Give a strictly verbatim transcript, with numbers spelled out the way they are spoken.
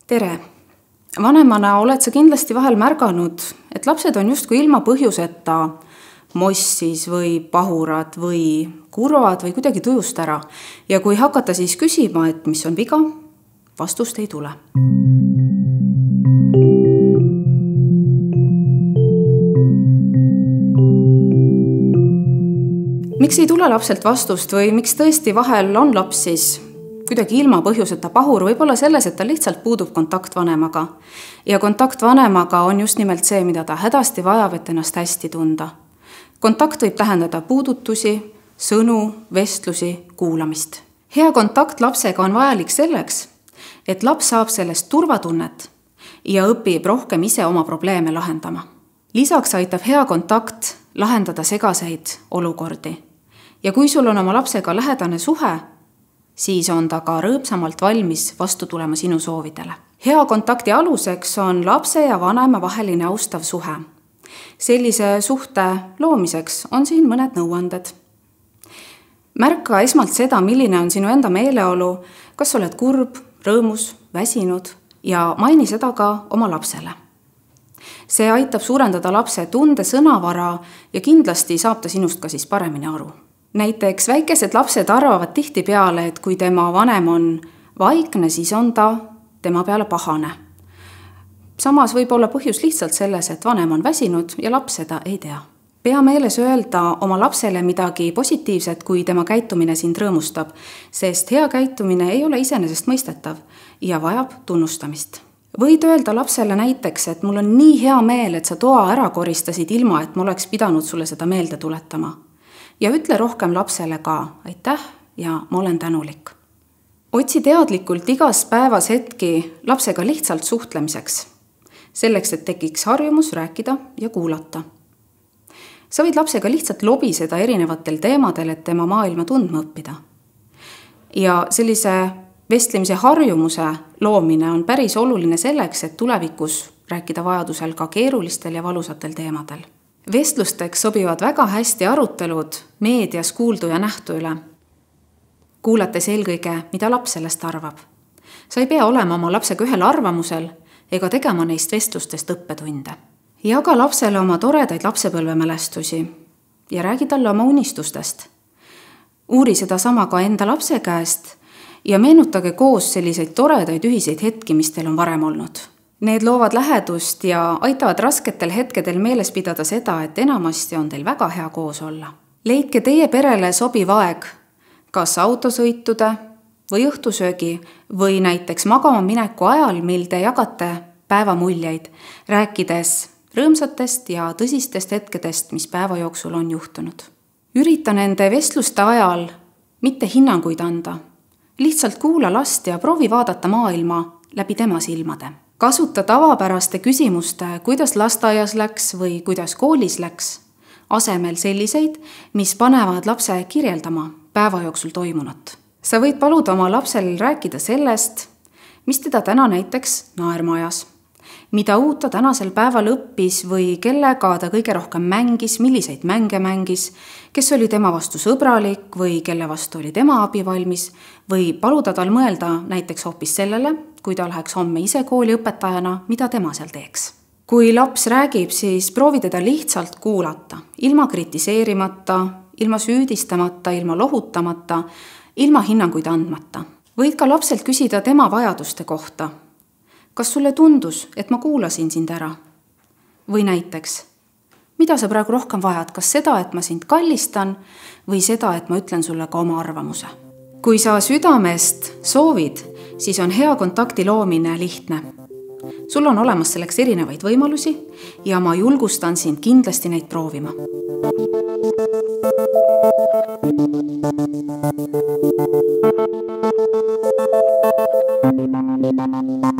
Tere! Vanemana oled sa kindlasti vahel märganud, et lapsed on justkui ilma põhjuseta mossis või pahurad või kurvad või kuidagi tujust ära. Ja kui hakata siis küsima, et mis on viga, vastust ei tule. Miks ei tule lapselt vastust või miks tõesti vahel on laps siis kuidagi ilma põhjuseta pahur, võib-olla selles, et ta lihtsalt puudub kontakt vanemaga. Ja kontakt vanemaga on just nimelt see, mida ta hädasti vajab, et ennast hästi tunda. Kontakt võib tähendada puudutusi, sõnu, vestlusi, kuulamist. Hea kontakt lapsega on vajalik selleks, et laps saab sellest turvatunnet ja õpib rohkem ise oma probleeme lahendama. Lisaks aitab hea kontakt lahendada segaseid olukordi. Ja kui sul on oma lapsega lähedane suhe, siis on ta ka rõõmsamalt valmis vastu tulema sinu soovidele. Hea kontakti aluseks on lapse ja vanema vaheline austav suhe. Sellise suhte loomiseks on siin mõned nõuanded. Märka esmalt seda, milline on sinu enda meeleolu, kas oled kurb, rõõmus, väsinud ja maini seda ka oma lapsele. See aitab suurendada lapse tunde sõnavara ja kindlasti saab ta sinust ka siis paremini aru. Näiteks väikesed lapsed arvavad tihti peale, et kui tema vanem on vaikne, siis on ta tema peale pahane. Samas võib olla põhjus lihtsalt selles, et vanem on väsinud ja laps seda ei tea. Pea meeles öelda oma lapsele midagi positiivset, kui tema käitumine sind rõõmustab, sest hea käitumine ei ole iseenesest mõistetav ja vajab tunnustamist. Võid öelda lapsele näiteks, et mul on nii hea meel, et sa toa ära koristasid ilma, et ma oleks pidanud sulle seda meelde tuletama. Ja ütle rohkem lapsele ka aitäh ja ma olen tänulik. Otsi teadlikult igas päevas hetki lapsega lihtsalt suhtlemiseks, selleks, et tekiks harjumus rääkida ja kuulata. Sa võid lapsega lihtsalt lobiseda erinevatel teemadel, et tema maailma tundma õppida. Ja sellise vestlemise harjumuse loomine on päris oluline selleks, et tulevikus rääkida vajadusel ka keerulistel ja valusatel teemadel. Vestlusteks sobivad väga hästi arutelud meedias kuuldu ja nähtu üle, kuulates eelkõige, mida laps sellest arvab. Sa ei pea olema oma lapsega ühel arvamusel ega tegema neist vestlustest õppetunde. Jaga lapsele oma toredaid lapsepõlvemälestusi ja räägi talle oma unistustest. Uuri seda sama ka enda lapse käest ja meenutage koos selliseid toredaid ühiseid hetki, mis teil on varem olnud. Need loovad lähedust ja aitavad rasketel hetkedel meeles pidada seda, et enamasti on teil väga hea koos olla. Leidke teie perele sobiv aeg, kas autosõitude või õhtusöögi või näiteks magama mineku ajal, mil te jagate päevamuljeid, rääkides rõõmsatest ja tõsistest hetkedest, mis päeva jooksul on juhtunud. Ürita nende vestluste ajal mitte hinnanguid anda. Lihtsalt kuula last ja proovi vaadata maailma läbi tema silmade. Kasuta tavapäraste küsimuste, kuidas lasteaias läks või kuidas koolis läks, asemel selliseid, mis panevad lapse kirjeldama päeva jooksul toimunut. Sa võid paluda oma lapsel rääkida sellest, mis teda täna näiteks naerma ajas, mida uut ta tänasel päeval õppis või kellega ta kõige rohkem mängis, milliseid mänge mängis, kes oli tema vastu sõbralik või kelle vastu oli tema abivalmis või paluda tal mõelda näiteks hoopis sellele, kui ta läheks homme ise kooli õpetajana, mida tema seal teeks. Kui laps räägib, siis proovi teda lihtsalt kuulata, ilma kritiseerimata, ilma süüdistamata, ilma lohutamata, ilma hinnanguid andmata. Võid ka lapselt küsida tema vajaduste kohta. Kas sulle tundus, et ma kuulasin sind ära? Või näiteks, mida sa praegu rohkem vajad, kas seda, et ma sind kallistan või seda, et ma ütlen sulle ka oma arvamuse? Kui sa südamest soovid, siis on hea kontakti loomine lihtne. Sul on olemas selleks erinevaid võimalusi ja ma julgustan sind kindlasti neid proovima. Thank you.